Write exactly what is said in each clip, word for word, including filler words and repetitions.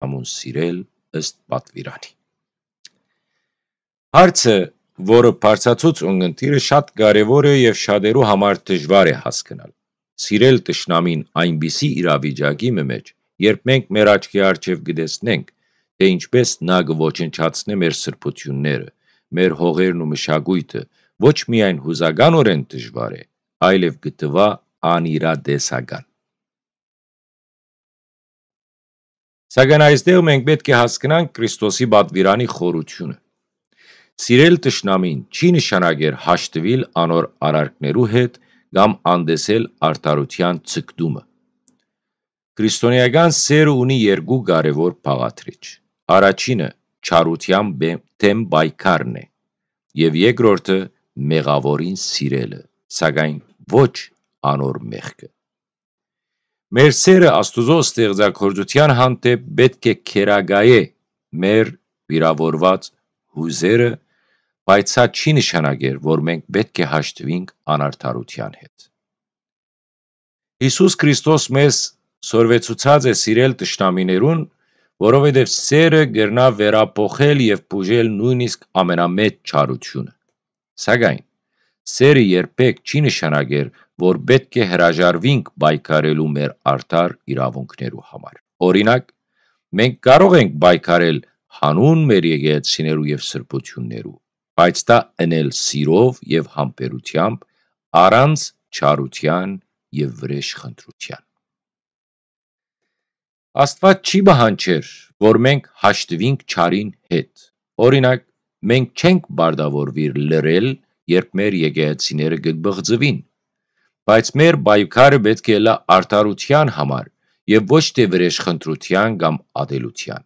Յամուն սիրել ըստ պատուիրանի։ Հարցը, որը բարձացուց ունգընտիրը, շատ կարեւոր է եւ շատերու համար դժուար է հասկնալ։ Սիրել թշնամին այնպիսի իրավիճակի մը մէջ, երբ մենք մեր աչքի առջեւ կը տեսնենք, թէ ինչպէս նա կը ոչնչացնէ մեր սրբութիւնները, մեր հողերն ու մշակոյթը, ոչ միայն յուզականօրէն դժուար է, այլեւ կը թուայ անիրատեսական։ Սակայն այստեղ մենք պէտք է հասկնանք Քրիստոսի պատուիրանի խորութիւնը։ Սիրել թշնամին չի նշանակեր հաշտուիլ անոր արարքներու հետ կամ անտեսել արդարութեան ձգտումը։ Քրիստոնէական սէրը ունի երկու կարեւոր բաղադրիչ։ Առաջինը չարութեան բե-, դէմ պայքարն է եւ երկրորդը մեղաւորին սիրելը, սակայն ոչ անոր մեղքը։ Մեր սէրը Աստուծոյ ստեղծագործութեան հանդէպ պէտք է քերակայէ մեր վիրաւորուած յուզերը, բայց սա չի նշանակեր, որ մենք պէտք է հաշտուինք անարդարութեան հետ։ Յիսուս Քրիստոս մեզ սորվեցուցած է սիրել թշնամիներուն, որովհետեւ սէրը կրնայ վերափոխել եւ բուժել նոյնիսկ ամենամեծ չարութիւնը։ Սակայն սէրը երբեք չի նշանակեր, որ պէտք է հրաժարուինք պայքարելու մեր արդար իրաւունքներու համար։ Օրինակ, մենք կարող ենք պայքարել յանուն մեր եկեղեցիներու եւ սրբութիւններու, բայց դա ընել սիրով եւ համբերութեամբ, առանց չարութեան եւ վրէժխնդրութեան։ Աստուած չի պահանջեր, որ մենք հաշտուինք չարին հետ։ Օրինակ, մենք չենք պարտավորուիր լռել, երբ մեր եկեղեցիները կը բղծուին, բայց մեր պայքարը պէտք է ըլլայ արդարութեան համար եւ ոչ թէ վրէժխնդրութեան կամ ատելութեան։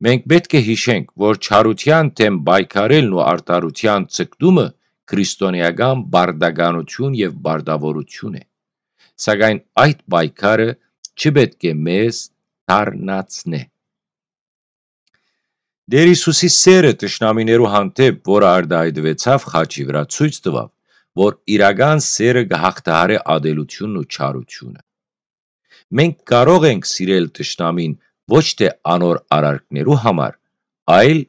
Մենք պէտք է յիշենք, որ չարութեան դէմ պայքարելն ու արդարութեան ձգտումը քրիստոնէական պարտականութիւն եւ պարտաւորութիւն է, սակայն այդ պայքարը չպէտք է մեզ դառնացնէ։ Տէր Յիսուսի սէրը թշնամիներու հանդէպ, որը արտայայտուեցաւ խաչի վրայ, ցոյց տուաւ, որ իրական սէրը կը յաղթահարէ ատելութիւնն ու չարութիւնը։ Մենք կարող ենք սիրել թշնամին ոչ թէ անոր արարքներու համար, այլ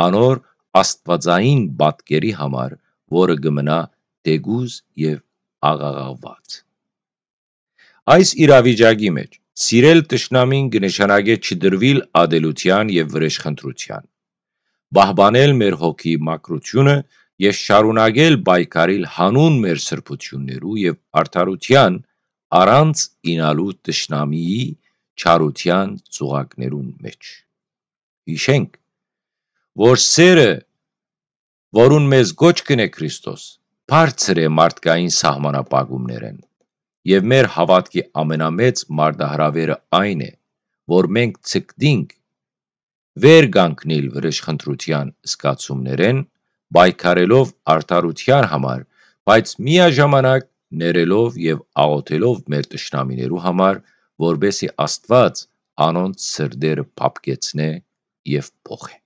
անոր աստուածային պատկերի համար, որը կը մնայ թէկուզ եւ աղաղաղուած։ Այս իրավիճակի մէջ սիրել թշնամին կը նշանակէ չդրուիլ ատելութեան եւ վրէժխնդրութեան, պահպանել մեր հոգիի մաքրութիւնը եւ շարունակել պայքարիլ յանուն մեր սրբութիւններու եւ արդարութեան, առանց իյնալու թշնամիի չարութեան ծուղակներուն մէջ։ Յիշենք, որ սէրը, որուն մեզ կոչ կ'ընէ Քրիստոս, բարձր է մարդկային սահմանապակումներէն, եւ մեր հաւատքի ամենամեծ մարտահրաւերը այն է, որ մենք ձգտինք վեր կանգնիլ վրէժխնդրութեան զգացումներէն, պայքարելով արդարութեան համար, բայց միաժամանակ ներելով եւ աղօթելով մեր թշնամիներու համար, որպէսզի Աստուած անոնց սրտերը փափկեցնէ եւ փոխէ։